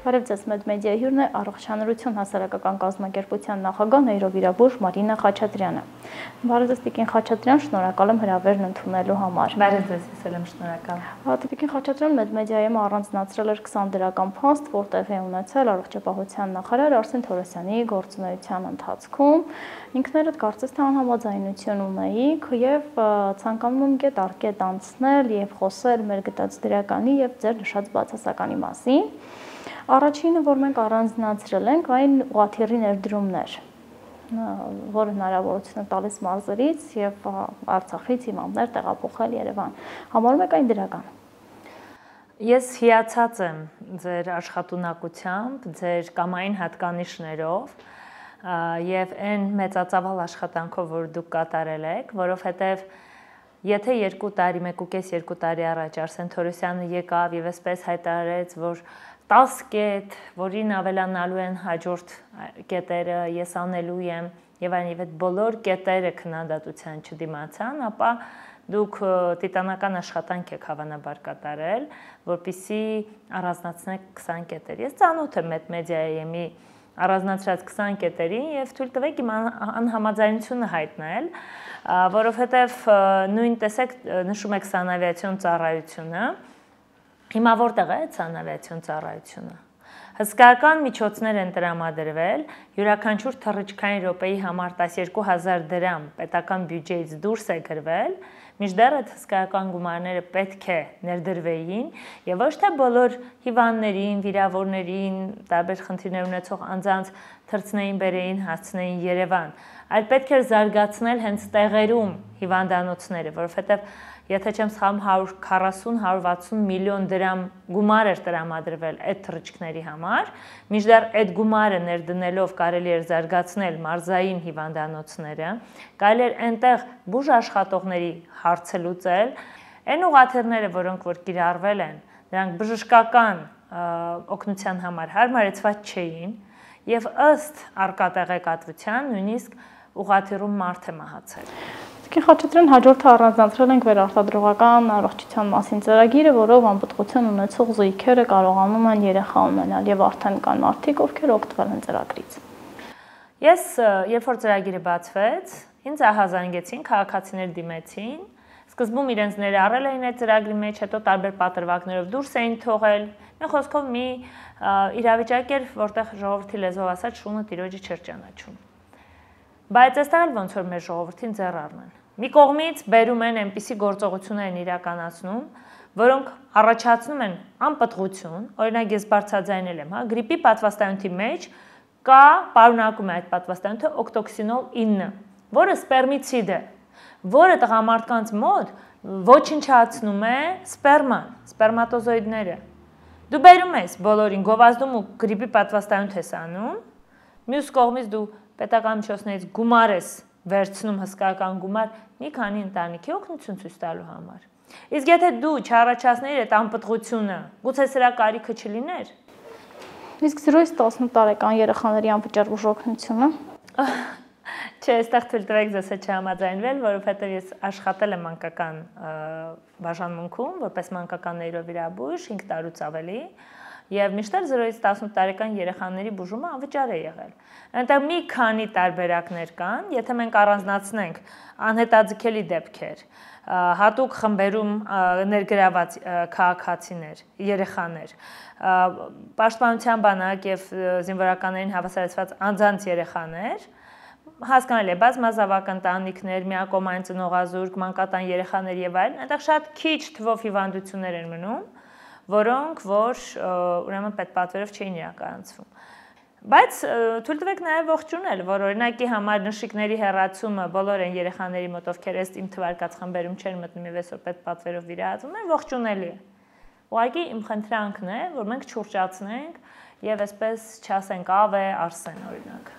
Բարև ձեզ, Մեդմեդիայի հյուրն է Առողջանորություն հասարակական կազմակերպության նախագահ նեյրովիրաբույժ Մարինա Խաչատրյանը։ Բարև ձեզ, Տիկին Խաչատրյան, շնորհակալ եմ հրավերն ընդունելու համար։ Բարև ձեզ, ես եմ շնորհակալ։ Տիկին Խաչատրյան Մեդմեդիայում առանձնացրել էր 20 դրական փաստ, որ տեղի է ունեցել առողջապահության նախարար Արսեն Թորոսյանի գործունեության ընթացքում։ Ինքներդ կարծես թե անհամաձայնություն ունեիք եւ ցանկանում եմ կետ առ կետ անցնել եւ խոսել մեր գտած դրականի եւ ձեր նշած բացասականի մասին։ Առաջինը, որ մենք առանձնացրել ենք, այն ուղղաթիռի ներդրումներ, որը հնարավորություն է տալիս մարզերից եւ Արցախից հիմամներ տեղափոխել Երևան։ Համարում եք այն դրական։ Ես հիացած եմ ձեր աշխատունակությամբ, ձեր կամային հատկանիշներով եւ այն մեծածավալ աշխատանքով, որ դուք կատարել եք, որովհետեւ եթե 2 տարի, 1.5-2 տարի առաջ Արսեն Թորոսյանը եկավ եւ այսպես հայտարարեց, որ 10 կետ, որին ավելանալու են հաջորդ կետերը, ես անելու եմ եւ այդ բոլոր կետերը քննադատության չդիմացան, ապա դուք տիտանական աշխատանք եք հավանաբար կատարել, որպեսզի առանձնացնեք 20 կետեր։ Ես ծանոթ եմ Մեդմեդիայի առանձնացրած 20 կետերին եւ թույլ տվեք իմ անհամաձայնությունը հայտնել, որովհետեւ նույն տեսեք նշում եք սանավիացիոն ծառայությունը, հիմա որտեղ է սանավիացիոն ծառայությունը։ Հսկայական միջոցներ են տրամադրվել, յուրաքանչյուր թռիչքային րոպեի համար 12000 դրամ պետական բյուջեից դուրս է գրվել, մինչդեռ այդ հսկայական գումարները պետք է ներդրվեին եւ ոչ թե բոլոր հիվանդներին, վիրավորներին, տարբեր խնդիրներ ունեցող անձանց թռցնեին, բերեին, հասցնեին Երևան, այլ պետք էր զարգացնել հենց տեղերում հիվանդանոցները, որովհետեւ եթե չեմ սխալվում 140-160 միլիոն դրամ գումար էր տրամադրվել այդ թռիչքների համար, մինչդեռ այդ գումարը ներդնելով կարելի էր զարգացնել մարզային հիվանդանոցները, կարելի էր այնտեղ բուժ աշխատողների հարցը լուծել, այն ուղղաթիռները, որոնք որ կիրառվել են, դրանք բժշկական օգնության համար հարմարեցված չէին եւ ըստ առկա տեղեկատվության նույնիսկ ուղղաթիռում մարդ է մահացել։ Տիկին Խաչատրյան, հաջորդը առանձնացրել ենք վերարտադրողական առողջության մասին ծրագիրը, որով անպտղություն ունեցող զույգերը կարողանում են երեխա ունենալ եւ արդեն կան մարդիկ, ովքեր օգտվել են ծրագրից։ Ես երբ որ ծրագիրը բացվեց, ինձ ահազանգեցին, քաղաքացիներ դիմեցին, սկզբում իրենց ներառել էին այդ ծրագրի մեջ, հետո տարբեր պատրվակներով դուրս էին թողել։ Մի խոսքով մի իրավիճակ էր, որտեղ ժողովրդի լեզվով ասած շունը տիրոջը չէր ճանաչում։ Բայց այստեղ էլ ոնց որ մեր ժողովրդին ձեռ առնեն։ Մի կողմից բերում են այնպիսի գործողություններ են իրականացնում, որոնք առաջացնում են անպտղություն, օրինակ ես բարձրաձայնել եմ, գրիպի պատվաստանյութի մեջ կա պարունակում է այդ պատվաստանյութը օկտոքսինոլ 9, որը սպերմիցիդ է, որը տղամարդկանց մոտ ոչնչացնում է սպերման, սպերմատոզոիդները։ Դու բերում ես բոլորին գովազդում ու գրիպի պատվաստանյութ ես անում, մյուս կողմից դու պետական միջոցներից գումար ես վերցնում հսկայական գումար մի քանի ընտանիքի օգնություն ցույց տալու համար։ Իսկ եթե դու չառաջացնեիր այդ անպտղությունը, գուցե սրա կարիքը չլիներ։ Իսկ 0-ից 18 տարեկան երեխաների անվճար բուժօգնությունը։ Չէ, այստեղ թույլ տվեք ձեզ հետ չհամաձայնվել, որովհետև ես աշխատել եմ մանկական բաժանմունքում, որպես մանկական նեյրովիրաբույժ 5 տարուց ավելի, եւ միշտեր 0-ից 18 տարեկան երեխաների բուժումը անվճար է եղել։ Այնտեղ մի քանի տարբերակներ կան, եթե մենք առանձնացնենք անհետաձգելի դեպքեր, հատուկ խմբերում ներգրաված քաղաքացիներ, երեխաներ, պաշտպանության բանակ եւ զինվորականներին հավասարեցված անձանց երեխաներ, հասկանալի է, բազմազավակ ընտանիքներ, միակողմային ծնողազուրկ, մանկատան երեխաներ եւ այլն, այնտեղ շատ քիչ թվով հիվանդություններ են մնում, որոնք որ ուրեմն պետպատվերով չէին իրականացվում։ Բայց թույլ տվեք նաև ողջունել, որ օրինակի համար նշիկների հեռացումը բոլոր այն երեխաների մոտ, ովքեր ըստ իմ թվարկած խմբերում չեն մտնում եւ այսօր պետպատվերով վիրահատվում են, ողջունելի է։ Ուղղակի իմ խնդրանքն է, որ մենք չուրջացնենք եւ այսպես չասենք ավ է Արսեն օրինակ։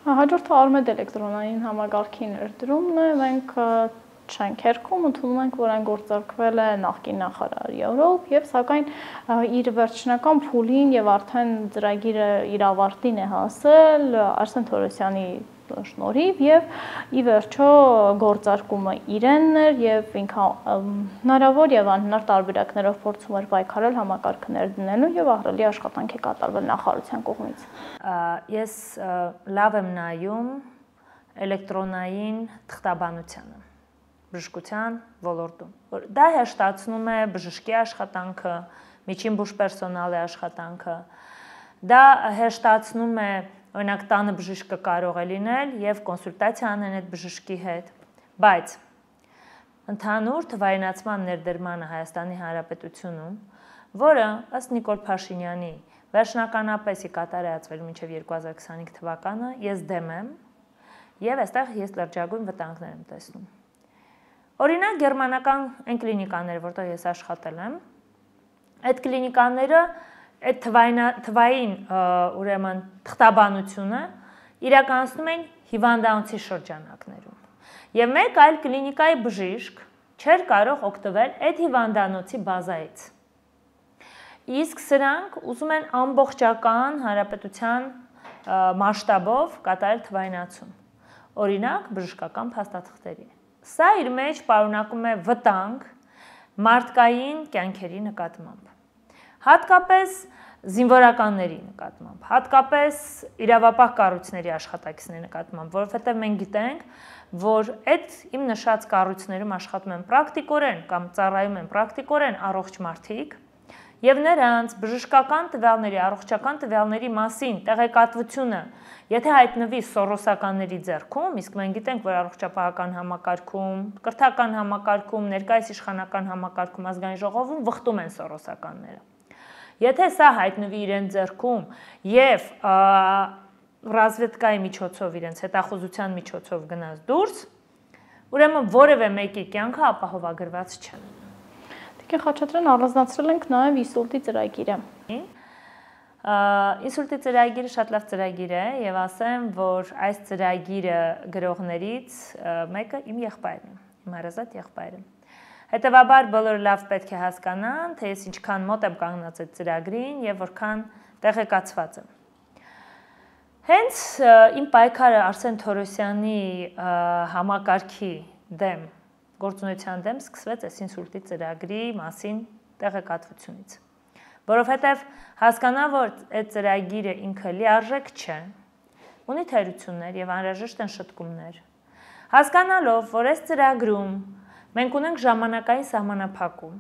Հաջորդը Արմեդ էլեկտրոնային համակարգի ներդրումն է, մենք շենքերքում ընդունում ենք, որ այն գործարկվել է նախկին նախարարի օրոք եւ սակայն իր վերջնական փուլին եւ արդեն ծրագիրը իր ավարտին է հասել Արսեն Թորոսյանի շնորհիվ եւ ի վերջո գործարկումը իրենն էր եւ ինքը հնարավոր եւ անհնար տարբերակներով փորձում էր պայքարել համակարգը ներդնելու եւ ահռելի աշխատանք է կատարվել նախարարության կողմից։ Ես լավ եմ նայում էլեկտրոնային թղթաբանությանը բժշկության ոլորտում, որ դա հեշտացնում է բժշկի աշխատանքը, միջին բուժ պերսոնալի աշխատանքը, դա հեշտացնում է, օրինակ տանը բժիշկը կարող է լինել եւ կոնսուլտացիա անեն այդ բժշկի հետ, բայց ընդհանուր թվայինացման ներդրմանը Հայաստանի Հանրապետությունում, որը ըստ Նիկոլ Փաշինյանի վերջնականապես է կատարածվել մինչև 2025 թվականը, ես դեմ եմ եւ այստեղ ես լրջագույն վտանգներ եմ տեսնում։ Օրինակ գերմանական այն կլինիկաները, որտեղ ես աշխատել եմ, այդ կլինիկաները այդ թվային ուրեմն թղթաբանությունը իրականացնում են հիվանդանոցի շրջանակներում։ Եվ մեկ այլ կլինիկայի բժիշկ չէր կարող օգտվել այդ հիվանդանոցի բազայից։ Իսկ սրանք ուզում են ամբողջական հանրապետության մասշտաբով կատարել թվայնացում։ Օրինակ բժշկական փաստաթղթերի։ Սա իր մեջ պարունակում է վտանգ մարդկային կյանքերի նկատմամբ, հատկապես զինվորականների նկատմամբ, հատկապես իրավապահ կառույցների աշխատակիցների նկատմամբ, որովհետև մենք գիտենք, որ այդ իմ նշած կառույցներում աշխատում են պրակտիկորեն կամ ծառայում են պրակտիկորեն առողջ մարդիկ, եւ նրանց բժշկական տվյալների, առողջական տվյալների մասին տեղեկատվությունը, եթե հայտնվի սորոսականների ձեռքում, իսկ մենք գիտենք, որ առողջապահական համակարգում, կրթական համակարգում, ներկայիս իշխանական համակարգում, ազգային ժողովում վխտում են սորոսականները։ Եթե սա հայտնվի իրենց ձեռքում եւ ռազմետկայի միջոցով իրենց հետախուզության միջոցով գնաց դուրս, ուրեմն որևէ մեկի կյանքը ապահովագրված չէ։ Տիկին Խաչատրյան, առանձնացրել ենք նաև ինսուլտի ծրագիրը։ Ինսուլտի ծրագիրը շատ լավ ծրագիր է եւ ասեմ, որ այս ծրագիրը գրողներից մեկը իմ եղբայրն է, իմ հարազատ եղբայրը։ Հետևաբար բոլորը լավ պետք է հասկանան, թե ես ինչքան մոտ եմ կանգնած այդ ծրագրին եւ որքան տեղեկացված եմ։ Հենց իմ պայքարը Արսեն Թորոսյանի համակարգի դեմ գործունեության դեմ սկսվեց այս ինսուլտի ծրագրի մասին տեղեկատվությունից, որովհետև հասկանա, որ այդ ծրագիրը ինքը լիարժեք չէ, ունի թերություններ եւ անհրաժեշտ են շտկումներ, հասկանալով, որ այս ծրագրում մենք ունենք ժամանակային սահմանափակում,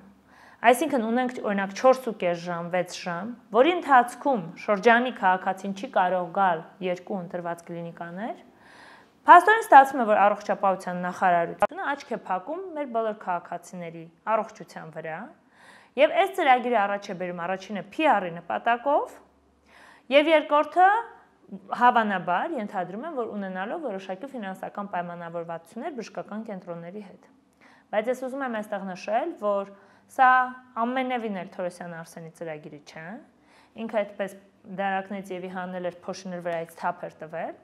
այսինքն ունենք օրինակ 4.5 ժամ, 6 ժամ, որի ընթացքում շրջանի քաղաքացին չի կարող գալ 2 ընտրված կլինիկաներ, փաստորեն ստացվում է, որ առողջապահության նախարարությունը աչք է փակում մեր բոլոր քաղաքացիների առողջության վրա եւ այս ծրագիրը առաջ է բերում առաջինը PR-ի նպատակով եւ երկրորդը հավանաբար ենթադրում եմ, որ ունենալով որոշակի ֆինանսական պայմանավորվածություններ բժշկական կենտրոնների հետ։ Բայց ես ուզում եմ այստեղ նշել, որ սա ամենևին էլ Թորոսյան Արսենի ծրագիրը չէ, ինքը այդպես դարակնից եւ իհանել էր փոշիներ վրայից թափ էր տվել։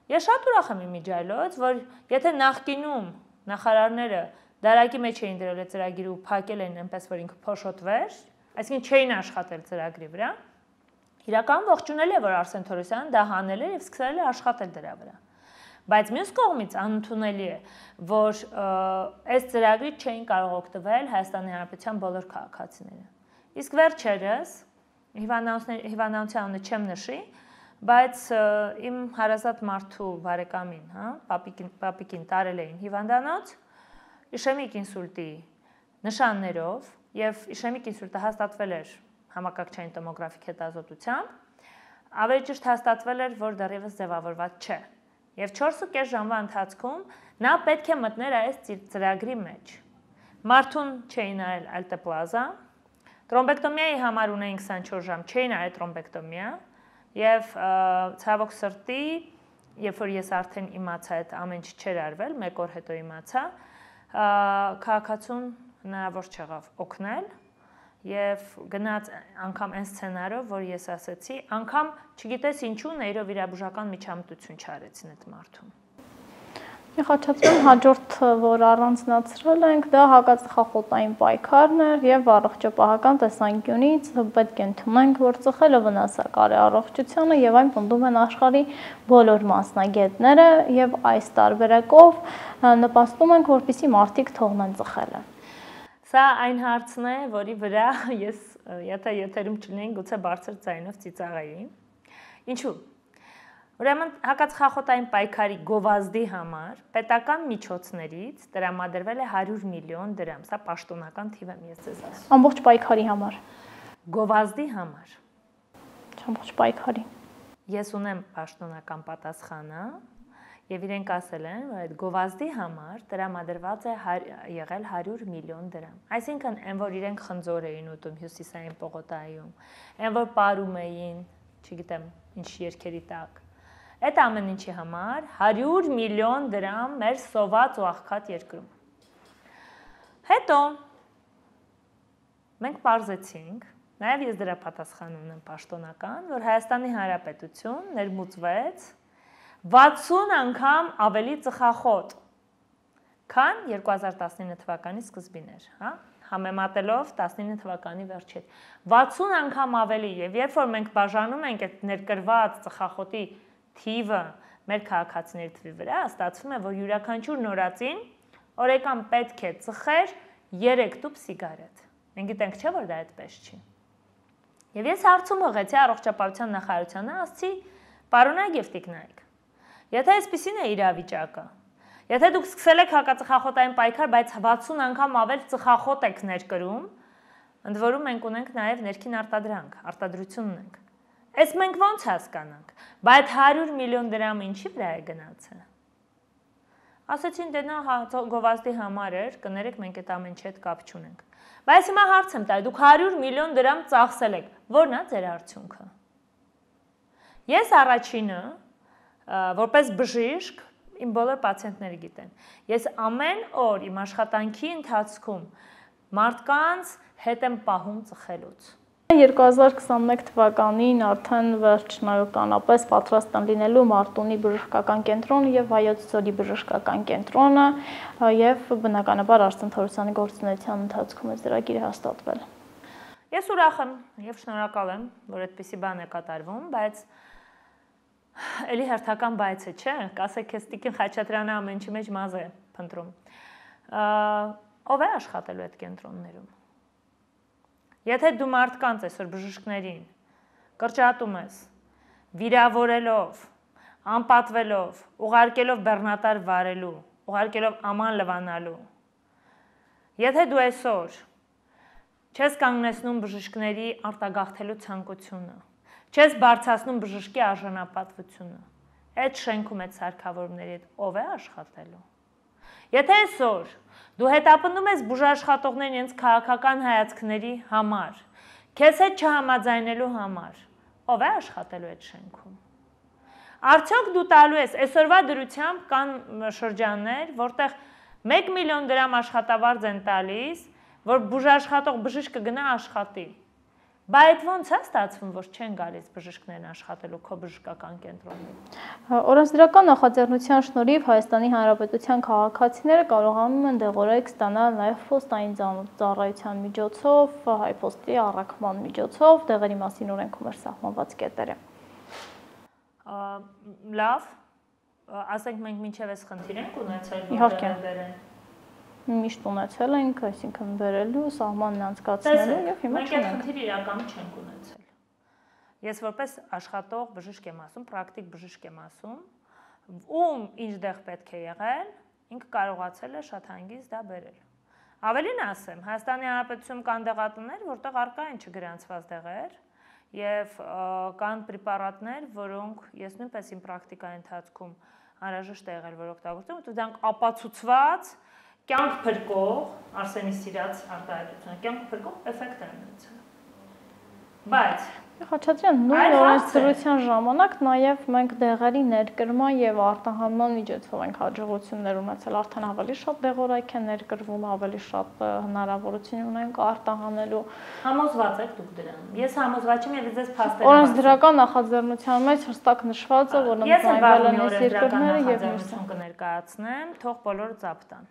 Ես շատ ուրախ եմ իմիջայլոց, որ եթե նախկինում նախարարները դարակի մեջ էին դրել այդ ծրագիրը ու փակել էին այնպես, որ ինքը փոշոտվեր, այսինքն չէին աշխատել ծրագրի վրա, իրականում ողջունել է, որ Արսեն Թորոսյանը դա հանել է եւ սկսել է աշխատել դրա վրա։ Բայց մյուս կողմից անընդունելի է, որ այս ծրագրից չէին կարող օգտվել Հայաստանի Հանրապետության բոլոր քաղաքացիները։ Իսկ վերջերս հիվանդանոցի անունը չեմ նշի, բայց իմ հարազատ մարդու բարեկամին, պապիկին տարել էին հիվանդանոց իշեմիկ ինսուլտի նշաններով եւ իշեմիկ ինսուլտը հաստատվել էր համակարգչային տոմոգրաֆիկ հետազոտությամբ, ավելի ճիշտ հաստատվել էր, որ դեռևս ձևավորված չէ։ Եվ 4.5 ժամվա ընթացքում նա պետք է մտներ այս ծրագրի մեջ։ Մարդուն չէին արել ալտեպլազա, տրոմբեկտոմիայի համար ունեին 24 ժամ, չէին արել տրոմբեկտոմիա, եւ ցավոք սրտի, երբ որ ես արդեն իմացա այդ ամեն ինչ չէր արվել, 1 օր հետո իմացա, քաղաքացուն հնարավոր չեղավ օգնել եւ գնաց անգամ այն սցենարով, որ ես ասացի, անգամ չգիտես ինչու նեյրովիրաբուժական միջամտություն չարեցին այդ մարդուն։ Խաչատրյան հաջորդ, որ առանձնացրել ենք, դա հակածխախոտային պայքարն էր եւ առողջապահական տեսանկյունից պետք է ընդունենք, որ ծխելը վնասակար է առողջությանը եւ այն պնդում են աշխարհի բոլոր մասնագետները եւ այս տարբերակով նպաստում ենք, որպեսզի մարդիկ թողնեն ծխելը։ Սա այն հարցն է, որի վրա ես եթե եթերում չլինեին, գուցե բարձր ձայնով ծիծաղեի։ Ինչու՞։ Ուրեմն հակածխախոտային պայքարի գովազդի համար պետական միջոցներից տրամադրվել է 100 միլիոն դրամ, սա պաշտոնական թիվ եմ ես ձեզ ասում։ Ամբողջ պայքարի համար։ Գովազդի համար։ Ամբողջ պայքարի։ Ես ունեմ պաշտոնական պատասխանը եւ իրենք ասել են, որ այդ գովազդի համար տրամադրված է եղել 100 միլիոն դրամ։ Այսինքն, այն որ իրենք խնձոր էին ուտում հյուսիսային պողոտայում, այն որ պարում էին, չգիտեմ, ինչ երկերի տակ։ Այդ ամեն ինչի համար 100 միլիոն դրամ մեր սոված ու աղքատ երկրում։ Հետո մենք պարզեցինք, նաև ես դրա պատասխան ունեմ պաշտոնական, որ Հայաստանի Հանրապետություն ներմուծվեց 60 անգամ ավելի ծխախոտ, քան 2019 թվականի սկզբին էր, հա? Համեմատելով 19 թվականի վերջին։ 60 անգամ ավելի, եւ երբ որ մենք բաժանում ենք այդ ներկրված ծխախոտի թիվը մեր քաղաքացիների թվի վրա, ստացվում է, որ յուրաքանչյուր նորածին օրեկան պետք է ծխեր 3 տուփ սիգարետ։ Մենք գիտենք, չէ՞ որ դա այդպես չի։ Եվ ես հարցում ուղղեցի առողջապահության նախարարությանը, ասացի, պարոնայք եւ տիկնայք, եթե այսպեսին է իրավիճակը, եթե դուք սկսել եք հակածխախոտային պայքար, բայց 60 անգամ ավել ծխախոտ եք ներկրում, ընդ որում մենք ունենք նաև ներքին արտադրություն ունենք։ Այս մենք ո՞նց հասկանանք, բայց 100 միլիոն դրամ ինչի վրա է գնացել։ Ասացին, դե նա գովազդի համար էր, կներեք, մենք այդ ամեն ինչի հետ կապ չունենք։ Բայց հիմա հարց եմ տալի, դուք 100 միլիոն դրամ ծախսել եք, ո՞րն է ձեր արդյունքը։ Ես առաջինը, որպես բժիշկ, իմ բոլոր պացիենտները գիտեն, ես ամեն օր իմ աշխատանքի ընթացքում մարդկանց հետ եմ պահում ծխելուց։ 2021 թվականին արդեն վերջնականապես պատրաստ են լինելու Մարտունի բժշկական կենտրոնը եւ Վայոց ձորի բժշկական կենտրոնը եւ բնականաբար Արսեն Թորոսյանի գործունեության ընթացքում է ծրագիրը հաստատվել։ Ես ուրախ եմ եւ շնորհակալ եմ, որ այդպիսի բան է կատարվում, բայց էլի հերթական բայցը, չէ՞, կասեք քեզ Տիկին Խաչատրյանը ամեն ինչի մեջ մազ է փնտրում։ Ով է աշխատելու այդ կենտրոններում։ Եթե դու մարդկանց այսօր բժիշկներին կրճատում ես, վիրավորելով, անպատվելով, ուղարկելով բեռնատար վարելու, ուղարկելով աման լվանալու, եթե դու այսօր չես կանգնեցնում բժիշկների արտագաղթելու ցանկությունը, չես բարձրացնում բժշկի արժանապատվությունը, այդ շենքում այդ սարքավորումների հետ ով է աշխատելու։ Եթե այսօր դու հետապնդում ես բուժաշխատողներին իրենց քաղաքական հայացքների համար, քեզ հետ չհամաձայնելու համար, ով է աշխատելու այդ շենքում։ Արդյոք դու տալու ես այսօրվա դրությամբ կան շրջաններ, որտեղ 1 միլիոն դրամ աշխատավարձ են տալիս, որ բուժաշխատող բժիշկը գնա աշխատի։ Բայց ո՞նց է ստացվում, որ չեն գալիս բժիշկներն աշխատելու քո բժշկական կենտրոնում։ Օրենսդրական նախաձեռնության շնորհիվ Հայաստանի Հանրապետության քաղաքացիները կարողանում են դեղորայք ստանալ նաև փոստային ծառայության միջոցով, հայփոստի առաքման միջոցով, դեղերի մասին օրենքում սահմանված կետերը։ Լավ, ասենք մենք մինչև այս խնդիր ենք ունեցել, իհարկե միշտ ունեցել ենք, այսինքն վերելու, սահմանն անցկացնելու եւ հիմա չունենք։ Մենք այդ խնդիրը իրականում չենք ունեցել։ Ես որպես աշխատող բժիշկ եմ ասում, պրակտիկ բժիշկ եմ ասում, ում ինչ դեղ պետք է եղել, ինքը կարողացել է շատ հանգիստ դա բերել։ Ավելին ասեմ, Հայաստանի Հանրապետությունում կան դեղատներ, որտեղ առկա են չգրանցված դեղեր եւ կան պրեպարատներ, որոնք ես նույնպես իմ պրակտիկայի ընթացքում անհրաժեշտ է եղել, որ օգտագործեմ, ու դրանք ապացուցված կյանք փրկող, Արսենի սիրած արտահայտությունը, կյանք փրկող էֆեկտ են ունեցել։ Բայց Խաչատրյան, նույն օրենսդրության ժամանակ նաև մենք դեղերի ներկրման եւ արտահանման միջոցով ենք հաջողություններ ունեցել, արդեն ավելի շատ դեղորայք են ներկրվում, ավելի շատ հնարավորություն ունենք արտահանելու։ Համոզված եք դուք դրան։ Ես համոզված եմ եւ ձեզ փաստեր։ Օրենսդրական նախաձեռնության մեջ հստակ նշված է, որ ընդունվել են այս երկրները եւ մյուսը կներկայացնեմ, թող բոլորը ծափտան։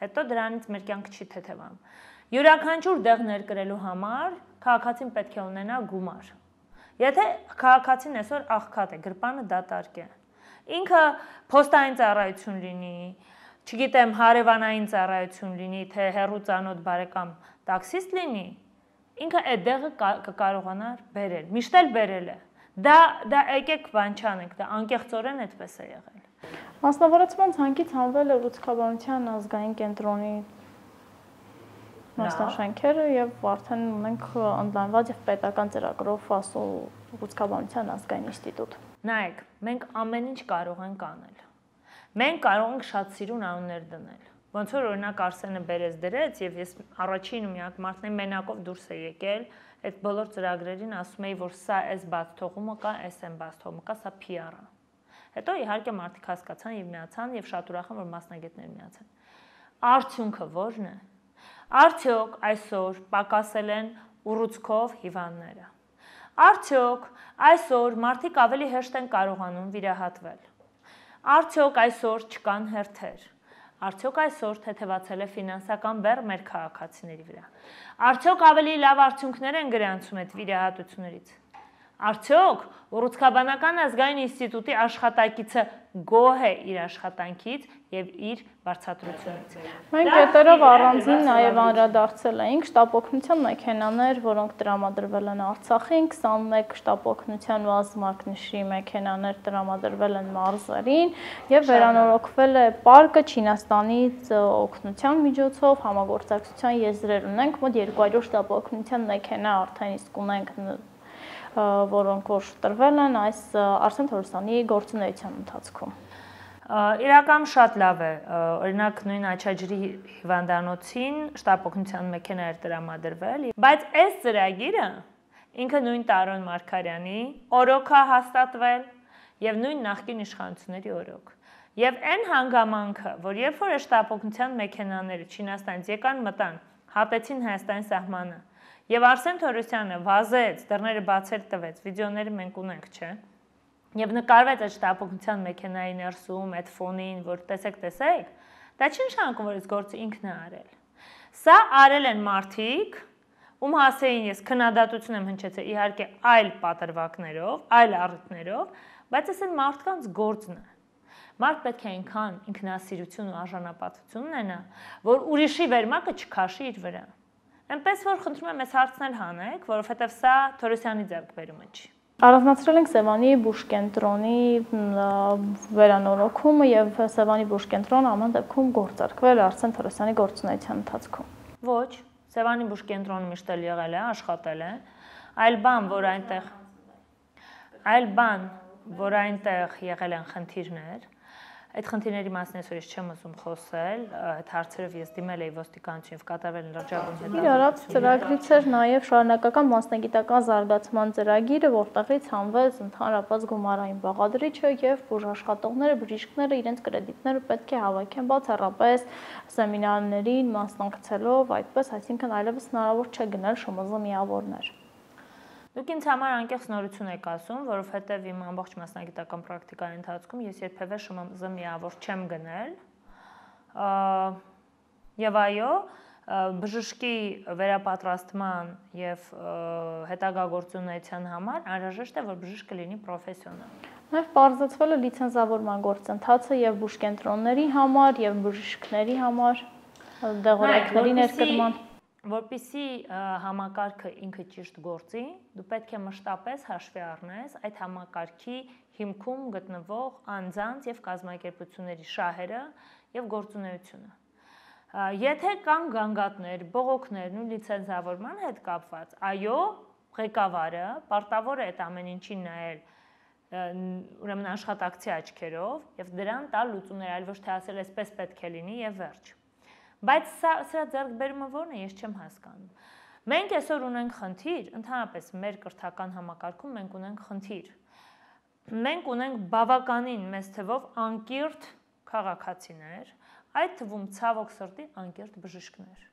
Հետո դրանից մեր կյանքը չի թեթևամ։ Յուրաքանչյուր դեղ ներկրելու համար քաղաքացին պետք է ունենա գումար։ Եթե քաղաքացին այսօր աղքատ է, գրպանը դատարկ է, ինքը փոստային ծառայություն լինի, չգիտեմ, հարևանային ծառայություն լինի, թե հեռու ծանոթ բարեկամ տաքսիստ լինի, ինքը այդ դեղը կկարողանար բերել, միշտ էլ բերել է։ Դա եկեք բան չանենք, դա անկեղծորեն այդպես է եղել։ Մասնավորեցման ցանկից հանվել է Ուռուցքաբանության ազգային կենտրոնի մասնաշենքերը եւ արդեն ունենք ընդլայնված եւ պետական ծրագրով ԱՍՈ Ուռուցքաբանության ազգային ինստիտուտ։ Նայեք, մենք ամեն ինչ կարող ենք անել։ Մենք կարող ենք շատ սիրուն անուններ դնել։ Ոնց որ օրինակ Արսենը Բերես դրեց եւ ես առաջին ու միակ մարդն եմ մենակով դուրս է եկել, այդ բոլոր ծրագրերին ասում էի, որ սա այս բաց թողումը կա, այս են բաց թողումը կա, սա PR է։ Հետո իհարկե մարդիկ հասկացան եւ միացան եւ շատ ուրախ եմ, որ մասնագետներ միացան։ Արդյունքը ո՞րն է։ Արդյոք այսօր պակասել են ուռուցքով հիվանդները։ Արդյոք այսօր մարդիկ ավելի հեշտ են կարողանում վիրահատվել։ Արդյոք այսօր չկան հերթեր։ Արդյոք այսօր թեթևացել է ֆինանսական բեռ մեր քաղաքացիների վրա։ Արդյոք ավելի լավ արդյունքներ են գրանցում այդ վիրահատություններից։ Արդյոք Ուռուցքաբանական ազգային ինստիտուտի աշխատակիցը գոհ է իր աշխատանքից եւ իր վարձատրությունից։ Մենք հետերով առանձին նաեւ անդրադարձել էինք շտապօգնության մեքենաներ, որոնք տրամադրվել են Արցախին, 21 շտապօգնության վազմակնիշի մեքենաներ տրամադրվել են մարզերին եւ վերանորոգվել է պարկը Չինաստանից օգնության միջոցով համագործակցության եզրեր ունենք, մոտ 200 շտապօգնության մեքենա արդեն իսկ ունենք որոնք որ տրվել են այս Արսեն Թորոսյանի գործունեության ընթացքում։ Իրական շատ լավ է, օրինակ նույն Աչաջրի հիվանդանոցին շտապօգնության մեքենա էր տրամադրվել, բայց այս ծրագիրը ինքը նույն Տարոն Մարգարյանի օրոք է հաստատվել եւ նույն նախկին իշխանությունների օրոք։ Եվ այն հանգամանքը, որ երբ որ շտապօգնության մեքենաները Չինաստանից եկան մտան, հատեցին Հայաստանի սահմանը, եւ Արսեն Թորոսյանը վազեց, դռները բացել տվեց, վիդեոները մենք ունենք, չէ՞։ Եվ նկարվեց այդ շտապօգնության մեքենայի ներսում, այդ ֆոնին, որ տեսեք, դա չի նշանակում, որ այս գործը ինքն է արել։ Սա արել են մարդիկ, ում հասեին ես քննադատություն եմ հնչեցել, իհարկե այլ պատրվակներով, այլ առիթներով, բայց այս այն մարդկանց գործն է։ Մարդ պետք է այնքան ինքնասիրություն ու արժանապատվություն ունենա, որ ուրիշի վերմակը չքաշի իր վրա։ Այնպես որ խնդրում եմ այս հարցնել հանեք, որովհետև սա Թորոսյանի ձեռքբերումը չի։ Առանձնացրել ենք Սևանի բուժկենտրոնի վերանորոգումը եւ Սևանի բուժկենտրոնը ամեն դեպքում գործարկվել Արսեն Թորոսյանի գործունեության ընթացքում։ Ոչ, Սևանի բուժկենտրոնը միշտ էլ եղել է, աշխատել է, այլ բան, որ այնտեղ եղել են խնդիրներ, այդ խնդիրների մասին այսօր ես չեմ ուզում խոսել, այդ հարցերով ես դիմել էի ոստիկանություն եւ կատարվել են լրջագույն հետազոտություններ։ Իրարած ծրագրից էր նաեւ շարունակական մասնագիտական զարգացման ծրագիրը, որտեղից հանվեց ընդհանրապես գումարային բաղադրիչը եւ բուժաշխատողները, բժիշկները իրենց կրեդիտները պետք է հավաքեն բացառապես սեմինարներին մասնակցելով, այդպես, այսինքն այլևս հնարավոր չէ գնել ՇՄԶ միավորներ։ Դուք ինձ համար անկեղծ նորություն եք ասում, որովհետև իմ ամբողջ մասնագիտական պրակտիկայի ընթացքում ես երբևէ ՇՄԶ միավոր չեմ գնել։ Եվ այո, բժշկի վերապատրաստման եւ հետագա գործունեության համար անհրաժեշտ է, որ բժիշկը լինի պրոֆեսիոնալ։ Նաև պարզեցվել է լիցենզավորման գործընթացը եւ բուժկենտրոնների համար եւ բժիշկների համար, դեղորայքների ներկրման։ Որպեսզի համակարգը ինքը ճիշտ գործի, դու պետք է մշտապես հաշվի առնես այդ համակարգի հիմքում գտնվող անձանց եւ կազմակերպությունների շահերը եւ գործունեությունը։ Եթե կան գանգատներ, բողոքներ ու լիցենզավորման հետ կապված, այո, ղեկավարը պարտավոր է այդ ամեն ինչին նայել ուրեմն աշխատակցի աչքերով եւ դրան տալ լուծումներ, այլ ոչ թե ասել այսպես պետք է լինի եւ վերջ։ Բայց սրա ձեռքբերումը ո՞րն է, ես չեմ հասկանում։ Մենք այսօր ունենք խնդիր, ընդհանրապես մեր կրթական համակարգում մենք ունենք խնդիր։ Մենք ունենք բավականին մեծ թվով անկիրթ քաղաքացիներ, այդ թվում ցավոք սրտի անկիրթ բժիշկներ։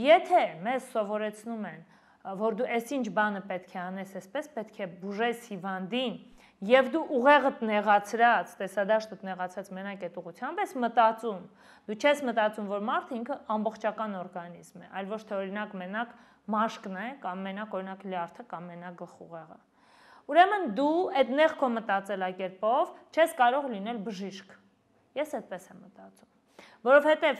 Եթե մեզ սովորեցնում են, որ դու այսինչ բանը պետք է անես, այսպես պետք է բուժես հիվանդին, եւ դու ուղեղդ նեղացրած, տեսադաշտդ նեղացած մենակ այդ ուղղությամբ ես մտածում, դու չես մտածում, որ մարդը ինքը ամբողջական օրգանիզմ է, այլ ոչ թե օրինակ մենակ մաշկն է, կամ մենակ օրինակ լյարդը, կամ մենակ գլխուղեղը։ Ուրեմն դու այդ նեղ քո մտածելակերպով չես կարող լինել բժիշկ։ Ես այդպես եմ մտածում։ Որովհետև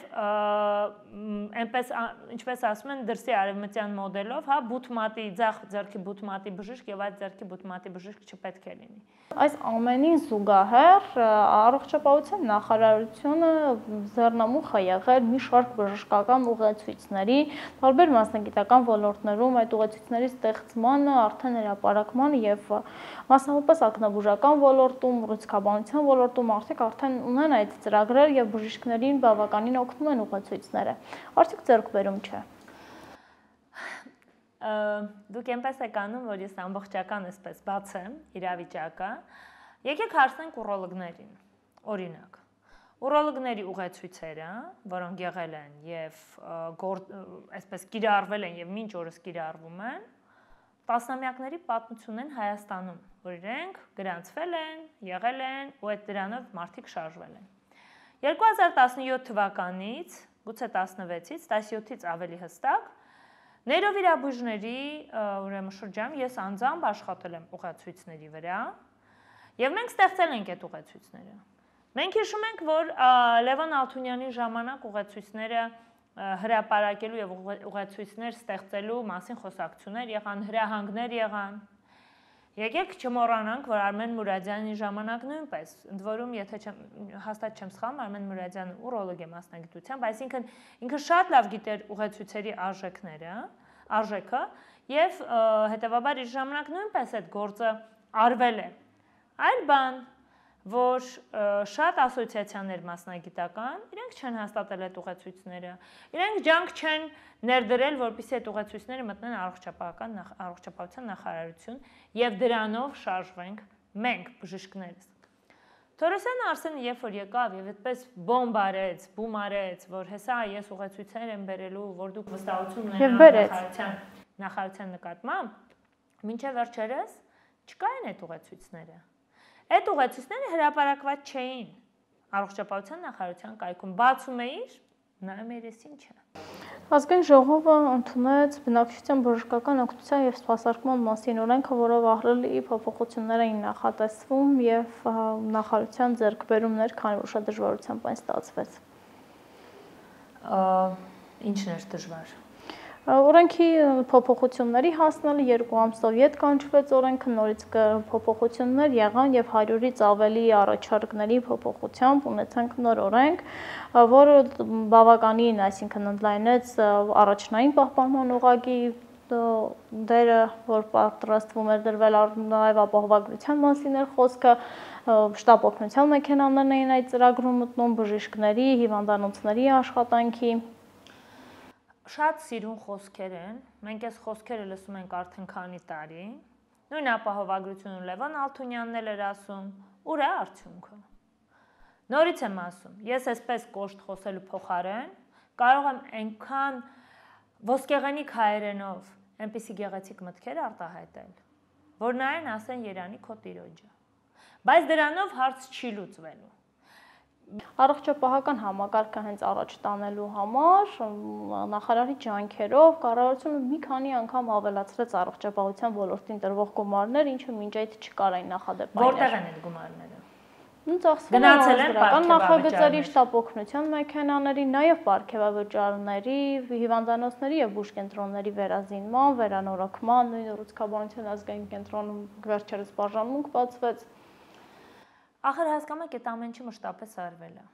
այնպես ինչպես ասում են դրսի արևմտյան մոդելով, հա, բութմատի ձախ ձեռքի բութմատի բժիշկ եւ այդ ձեռքի բութմատի բժիշկ չպետք է լինի։ Այս ամենին զուգահեռ առողջապահության նախարարությունը ձեռնամուխ է եղել մի շարք բժշկական ուղեցույցների, տարբեր մասնագիտական ոլորտներում այդ ուղեցույցների ստեղծմանը, արդեն հրապարակմանը եւ մասնավորապես ակնաբուժական ոլորտում, ռուսկաբանության ոլորտում արդեն ունեն այդ ծրագրեր եւ բժիշկներին բավականին օգնում են ուղեցույցները։ Արդյոք ձեռքբերում չէ։ Դուք այնպես եք անում, որ ես ամբողջական այսպես բացեմ իրավիճակը։ Եկեք հարցնենք ուրոլոգներին։ Օրինակ, ուրոլոգների ուղեցույցերը, որոնք եղել են եւ այսպես կիրառվել են եւ մինչ օրս կիրառվում են, տասնամյակների պատմություն են Հայաստանում, որ իրենք գրանցվել են, եղել են ու այդ դրանով մարդիկ շարժվել են։ 2017 թվականից, գուցե 16-ից, 17-ից ավելի հստակ, նեյրովիրաբույժների ուրեմն շրջանում ես անձամբ աշխատել եմ ուղեցույցների վրա եւ մենք ստեղծել ենք այդ ուղեցույցները։ Մենք հիշում ենք, որ Լևոն Ալթունյանի ժամանակ ուղեցույցները հրապարակելու եւ ուղեցույցներ ստեղծելու մասին խոսակցություններ եղան, հրահանգներ եղան։ Եկեք չմոռանանք, որ Արմեն Մուրադյանի ժամանակ նույնպես, ընդ որում, եթե հաստատ չեմ սխալվում, Արմեն Մուրադյանը ուրոլոգ է մասնագիտությամբ, այսինքն ինքը շատ լավ գիտեր ուղեցույցերի արժեքը եւ հետեւաբար իր ժամանակ նույնպես այդ գործը արվել է։ Այլ բան, որ շատ ասոցիացիաներ մասնագիտական, իրենք չեն հաստատել այդ ուղեցույցները, իրենք ջանք չեն ներդրել, որպեսզի այդ ուղեցույցները մտնեն առողջապահության նախարարություն եւ դրանով շարժվենք մենք բժիշկներս։ Թորոսյանը Արսենը երբ որ եկավ եւ այդպես բոմբ արեց, որ հեսա ես ուղեցույցներ եմ բերելու, որ դուք վստահություն ունենաք նախարարության նկատմամբ, մինչեւ վերջերս չկային այդ ուղեցույցները։ Այդ ուղեցույցները հրապարակված չէին առողջապահության նախարարության կայքում, բացում էիր, նայում էիր ես ինչ է։ Ազգային ժողովը ընդունեց բնակչության բժշկական օգնության եւ սպասարկման մասին օրենքը, որով ահռելի փոփոխություններ էին նախատեսվում եւ նախարարության ձեռքբերումներ, քանի որ շատ դժվարությամբ այն ստացվեց։ Ինչն էր դժվար։ Օրենքի փոփոխությունների հասնելը 2 ամսով ետ կանչվեց օրենքը, նորից փոփոխություններ եղան եւ 100-ից ավելի առաջարկների փոփոխությամբ ունեցանք նոր օրենք, որը բավականին, այսինքն ընդլայնեց առաջնային պահպանման օղակի դերը, որ պատրաստվում էր դրվել նաև ապահովագրության մասին էր խոսքը, շտապ օգնության մեքենաներն էին այդ ծրագրում մտնում, բժիշկների, հիվանդանոցների աշխատանքի։ Շատ սիրուն խոսքեր են, մենք այս խոսքերը լսում ենք արդեն քանի տարի, նույն ապահովագրությունը Լևոն Ալթունյանն էլ էր ասում, ուր է արդյունքը։ Նորից եմ ասում, ես այսպես կոշտ խոսելու փոխարեն կարող եմ այնքան ոսկեղենիկ հայերենով այնպիսի գեղեցիկ մտքեր արտահայտել, որ նայեն ասեն Երանի քո տիրոջը, բայց դրանով հարց չի լուծվելու։ Առողջապահական համակարգը հենց առաջ տանելու համար նախարարի ջանքերով կառավարությունը մի քանի անգամ ավելացրեց առողջապահության ոլորտին տրվող գումարներ, ինչը մինչ այդ չկար այն նախադեպայինը։ Որտեղ են այդ գումարները։ Գնացել են նախագծերի, շտապ օգնության մեքենաների, նաև պարգևավճարների, հիվանդանոցների եւ բուժկենտրոնների վերազինման, վերանորոգման, նույն ռուսկաբանության ազգային կենտրոնում վերջերս բաժանմունք բացվեց։ Ախր հասկանում եք, այդ ամեն ինչը մշտապես արվել է։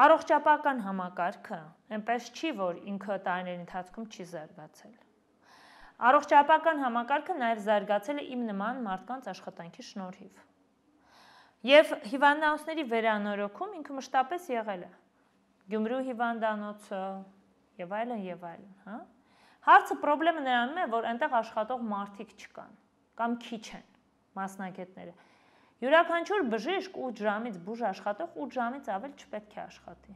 Առողջապահական համակարգը այնպես չի, որ ինքը տարիների ընթացքում չի զարգացել։ Առողջապահական համակարգը նաև զարգացել է իմ նման մարդկանց աշխատանքի շնորհիվ։ Եվ հիվանդանոցների վերանորոգում ինքը մշտապես եղել է։ Գյումրու հիվանդանոցը եւ այլն, հա։ Հարցը խնդրեմը նրանում է, որ այնտեղ աշխատող մարդիկ չկան կամ քիչ են մասնագետները։ Յուրաքանչյուր բժիշկ 8 ժամից բուժ աշխատող 8 ժամից ավել չպետք է աշխատի։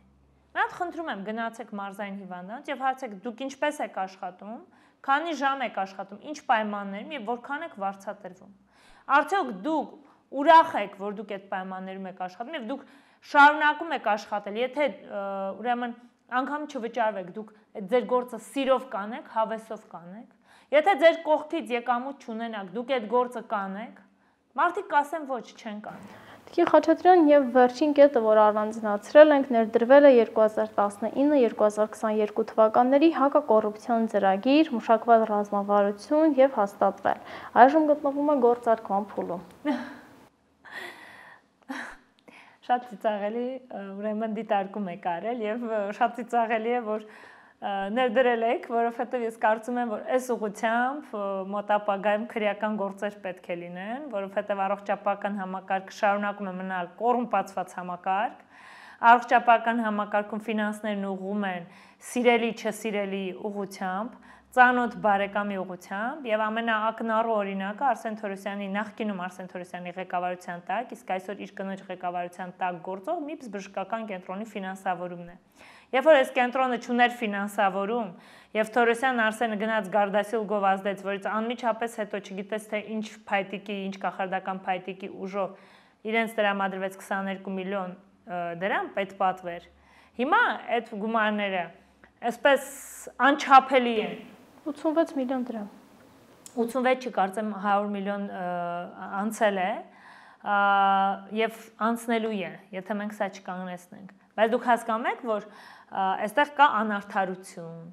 Մենք խնդրում եմ գնացեք մարզային հիվանդանոց եւ հարցեք դուք ինչպես եք աշխատում, քանի ժամ եք աշխատում, ինչ պայմաններում եւ որքան եք վարձատրվում։ Արդյոք դուք ուրախ եք, որ դուք այդ պայմաններում եք աշխատում եւ դուք շարունակում եք աշխատել, եթե ուրեմն անգամ չվճարվեք, դուք ձեր գործը սիրով կանեք, հավեսով կանեք։ Եթե ձեր կողքից եկամուտ չունենաք, դուք այդ գործը կանեք, մարդիկ կասեն ոչ, չեն կան։ Տիկին Խաչատրյան, եւ վերջին կետը, որ առանձնացրել ենք, ներդրվել է 2019-2022 թվականների հակակոռուպցիոն ծրագիր, մշակված ռազմավարություն եւ հաստատվել։ Այժմ գտնվում է գործարկման փուլում։ Շատ ծիծաղելի, ուրեմն դիտարկում եք արել եւ շատ ծիծաղելի է, որ ներդրել եք, որովհետեւ ես կարծում եմ, որ այս ուղղությամբ մոտ ապագայում քրեական գործեր պետք է լինեն, որովհետեւ առողջապահական համակարգը շարունակում է մնալ կոռումպացված համակարգ, առողջապահական համակարգում ֆինանսներն ուղղում են սիրելի, չսիրելի ուղղությամբ, ծանոթ բարեկամի ուղղությամբ եւ ամենաակնառու օրինակը Արսեն Թորոսյանի նախկինում Արսեն Թորոսյանի ղեկավարության տակ, իսկ այսօր իր կնոջ ղեկավարության տակ գործող MIPS բժշկական կենտրոնի ֆինանսավորումն է։ Երբ որ այս կենտրոնը չուներ ֆինանսավորում եւ Թորոսյան Արսենը գնաց Գարդասիլ գովազդեց, որից անմիջապես հետո չգիտես թե ինչ փայտիկի, ինչ կախարդական փայտիկի ուժով իրենց տրամադրվեց 22 միլիոն դրամ պետպատվեր։ Հիմա այդ գումարները այսպես անչափելի են 86 միլիոն դրամ։ 86 չկարծեմ 100 միլիոն անցել է եւ անցնելու է, եթե մենք սա չկանգնեցնենք։ Բայց դուք հասկանում եք, որ այստեղ կա անարդարություն,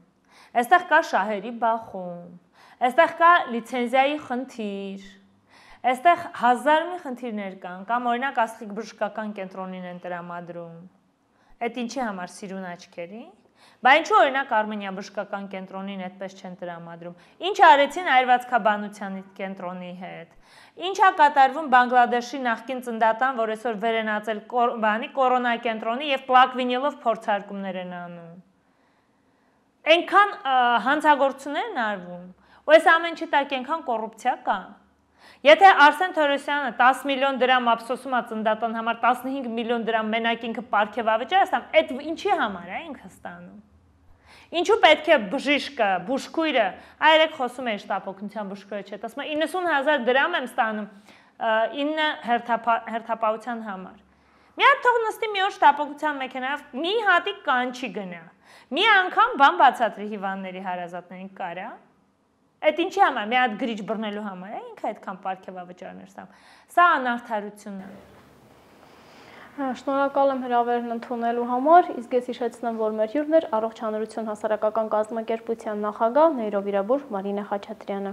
այստեղ կա շահերի բախում, այստեղ կա լիցենզիայի խնդիր, այստեղ հազար մի խնդիրներ կան, կամ օրինակ Աստղիկ բժշկական կենտրոնին են տրամադրում։ Այդ ինչի համար սիրուն աչքերի։ Բա ինչու օրինակ Արմենիա բժշկական կենտրոնին այդպես չեն տրամադրում։ Ինչ արեցին Այրվածքաբանության կենտրոնի հետ։ Ինչա կատարվում Բանգլադեշի նախկին ծննդատան, որ այսօր վերենացել կորոնա կենտրոնի եւ պլակ վինիլով փորձարկումներ են անում։ Այնքան հանցագործություններ են արվում։ Ու այս ամեն ինչի տակ այնքան կոռուպցիա կա։ Եթե Արսեն Թորոսյանը 10 միլիոն դրամ ափսոսում է ծննդատան համար 15 միլիոն դրամ մենակ ինքը պարգև ավճարը ստանում, այդ ինչի համար է ինքը ստանում։ Ինչու պետք է բժիշկը, բուժքույրը, այրեք խոսում է շտապօգնության բուժքույրը չէ, ասում է 90,000 դրամ եմ ստանում 9 հերթապահության համար։ Մի հատ թող նստի մի օր շտապօգնության մեքենայով մի հատիկ կանչի գնա։ Մի անգամ բան բացատրի հիվանդների հարազատներին կարա։ Այդ ինչի համար, մի հատ գրիչ բռնելու համար է, ինքը այդքան պարգև ավճարներ ստանում։ Սա անարդարություն է։ Շնորհակալ եմ հրավերն ընդունելու համար, իսկ ես հիշեցնեմ, որ մեր հյուրն էր Առողջ հանրություն հասարակական կազմակերպության նախագահ, նեյրովիրաբույժ Մարինա Խաչատրյանը։